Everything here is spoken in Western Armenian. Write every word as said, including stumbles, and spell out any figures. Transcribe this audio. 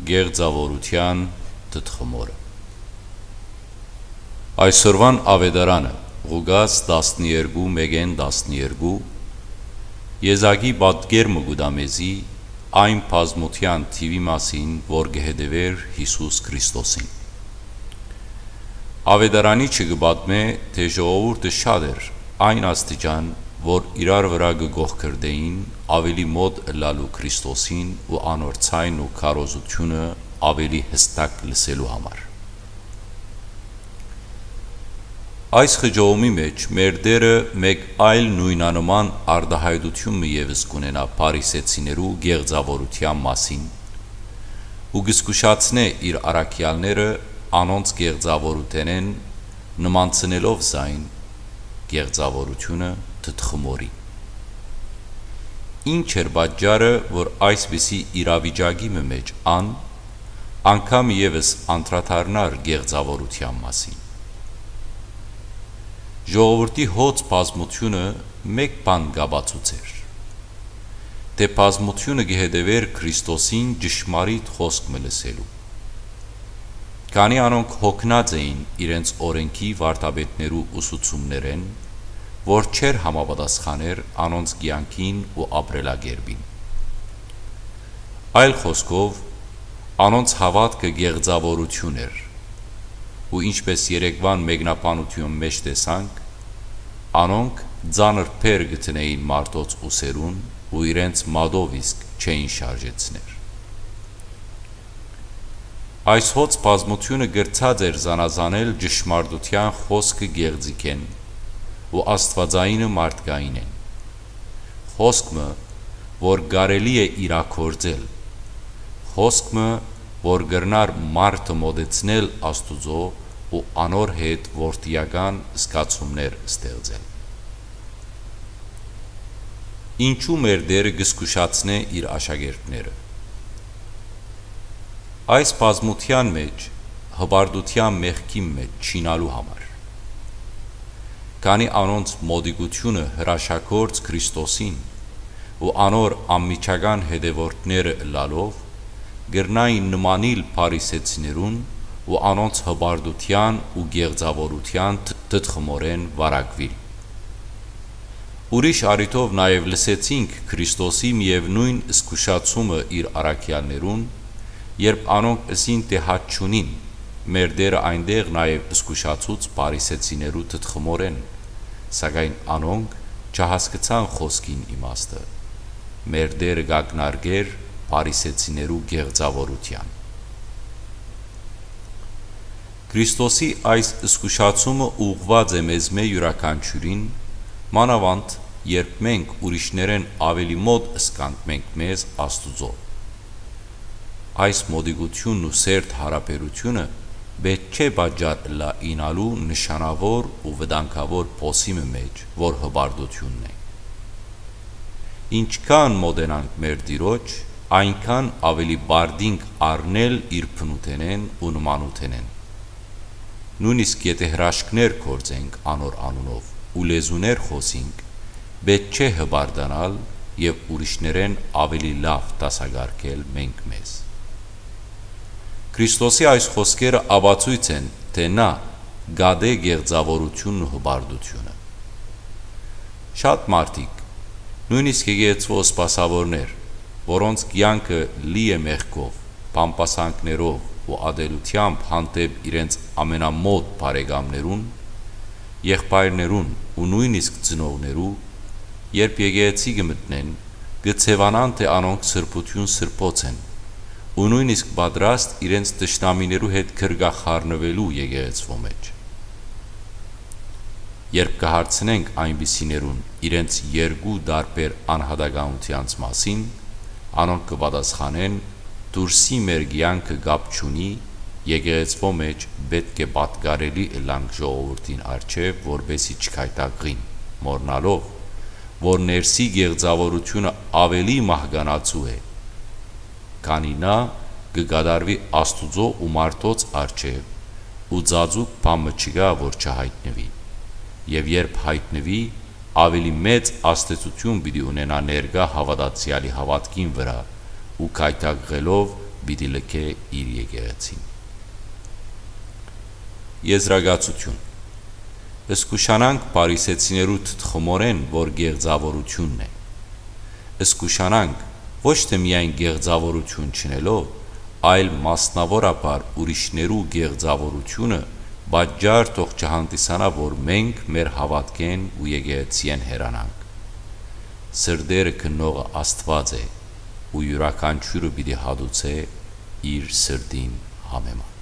Կեղծաւորութեան թթխմորը։ Այսօրուան աւետարանը, Ղուկաս տասներկու, մէկէն տասներկու, եզակի պատկեր մը կու տայ մեզի այն բազմութեան թիւի մասին, որ կը հետեւէր Յիսուս Քրիստոսին։ Աւետարանիչը կը պատմէ, թէ ժողովուրդը շատ էր այն աստիճան, որ իրար վրայ կը կոխկրտէին, աւելի մօտ ըլլալու Քրիստոսին ու անոր ձայնն ու քարոզութիւնը աւելի յստակ լսելու համար։ Այս խճողումի մէջ մեր Տէրը մէկ այլ նոյնանման արտայայտութիւն մը եւս կ'ունենայ փարիսեցիներու կեղծաւորութեան մասին ու կը զգուշացնէ իր առաքեալները անոնց կեղծաւորութենէն, նմանցնելով զայն կեղծաւորութիւնը թթխմորի։ Ի՞նչ էր պատճառը, որ այսպիսի իրավիճակի մը մէջ ան անգամ եւս անդրադառնար կեղծաւորութեան մասին։ Ժողովուրդի հոծ բազմութիւնը մէկ բան կ'ապացուցէր, թէ բազմութիւնը կը հետեւէր Քրիստոսին ճշմարիտ խօսք մը լսելու։ Քանի անոնք յոգնած էին իրենց օրէնքի վարդապետներու ուսուցումներէն, որ չէր համապատասխաներ անոնց կեանքին ու ապրելակերպին։ Այլ խօսքով, անոնց հաւատքը կեղծաւորութիւն էր, ու ինչպէս երեկուան մեկնաբանութեան մէջ տեսանք, անոնք ծանր բեռ կը դնէին մարդոց ուսերուն ու իրենց մատով իսկ չէին շարժեցներ։ Այս հոծ բազմութիւնը կրցած էր զանազանել ճշմարտութեան խօսքը կեղծիքէն ու աստուածայինը մարդկայինէն։ Խօսք մը, որ կարելի է իրագործել, խօսք մը, որ կրնար մարդը մոտեցնել Աստուծոյ ու անոր հետ որդիական զգացումներ ստեղծել։ Ինչու մեր Տէրը կը զգուշացնէ իր աշակերտները։ Այս բազմութեան մէջ հպարտութեան մեղքին մէջ չիյնալու համար։ Քանի անոնց մոտիկութիւնը հրաշագործ Քրիստոսին ու անոր անմիջական հետեւորդները ըլլալով, կրնային նմանիլ փարիսեցիներուն ու անոնց հպարտութեան ու կեղծաւորութեան թ-, թթխմորէն վարակուիլ։ Ուրիշ առիթով նաեւ լսեցինք Քրիստոսի միեւնոյն զգուշացումը իր առաքեալներուն, երբ անոնք ըսին թէ հաց չունին, մեր Տէրը այնտեղ նաեւ զգուշացուց փարիսեցիներու թթխմորէն, սակայն անոնք չհասկցան խօսքին իմաստը։ Մեր Տէրը կ'ակնարկէր փարիսեցիներու կեղծաւորութեան։ Քրիստոսի այս զգուշացումը ուղղուած է մեզմէ իւրաքանչիւրին, մանաւանդ երբ մենք ուրիշներէն աւելի մօտ զգանք մենք մեզ Աստուծոյ։ Այս մոտիկութիւնն ու սերտ յարաբերութիւնը պէտք չէ պատճառ ըլլայ իյնալու նշանաւոր ու վտանգաւոր փոսի մը մէջ, որ հպարտութիւնն է։ Ինչքան մօտենանք մեր Տիրոջ, այնքան աւելի պարտինք առնել իր բնութենէն ու նմանութենէն։ Նոյնիսկ եթէ հրաշքներ գործենք անոր անունով ու լեզուներ խօսինք, պէտք չէ հպարտանալ եւ ուրիշներէն աւելի լաւ դասակարգել մենք մեզ։ Քրիստոսի այս խօսքերը ապացոյց են, թէ նա կատէ կեղծաւորութիւնն ու հպարտութիւնը։ Շատ մարդիկ, նոյնիսկ եկեղեցւոյ սպասաւորներ, որոնց կեանքը լի է մեղքով, բամբասանքներով ու ատելութեամբ հանդէպ իրենց ամենամօտ բարեկամներուն, եղբայրներուն ու նոյնիսկ ծնողներու, երբ եկեղեցի կը մտնեն, կը ձեւանան թէ անոնք սրբութիւն սրբոց են ու նոյնիսկ պատրաստ իրենց թշնամիներու հետ գրկախառնուելու եկեղեցւոյ մէջ։ Երբ կը հարցնենք այնպիսիներուն իրենց երկու տարբեր անհատականութեանց մասին, անոնք կը պատասխանեն. «Դուրսի մեր կեանքը կապ չունի, եկեղեցւոյ մէջ պէտք է պատկառելի ըլլանք ժողովուրդին առջեւ, որպէսզի չքայթակղին, մոռնալով, որ ներսի կեղծաւորութիւնը աւելի մահկանացու է, քանի նա կը կատարուի Աստուծոյ ու մարդոց առջեւ, ու ծածուկ բան մը չկայ, որ չյայտնուի։ Եւ երբ յայտնուի, աւելի մեծ ազդեցութիւն պիտի ունենայ ներկայ հաւատացեալի հաւատքին վրայ ու քայթակղելով պիտի լքէ իր եկեղեցին։ Եզրակացութիւն։ Զգուշանանք փարիսեցիներու թթխմորէն, որ գեղձաւորութիւնն է։ Զգուշանանք ոչ թէ միայն գեղձաւորութիւն չընելով, այլ մասնաւորաբար ուրիշներու գեղձաւորութիւնը պատճառ թող չհանդիսանայ, որ մենք մեր հաւատքէն ու եկեղեցիէն հեռանանք։ Սրտերը քննողը Աստուած է, ու իւրաքանչիւրը պիտի հատուցէ իր սրտին համեմատ։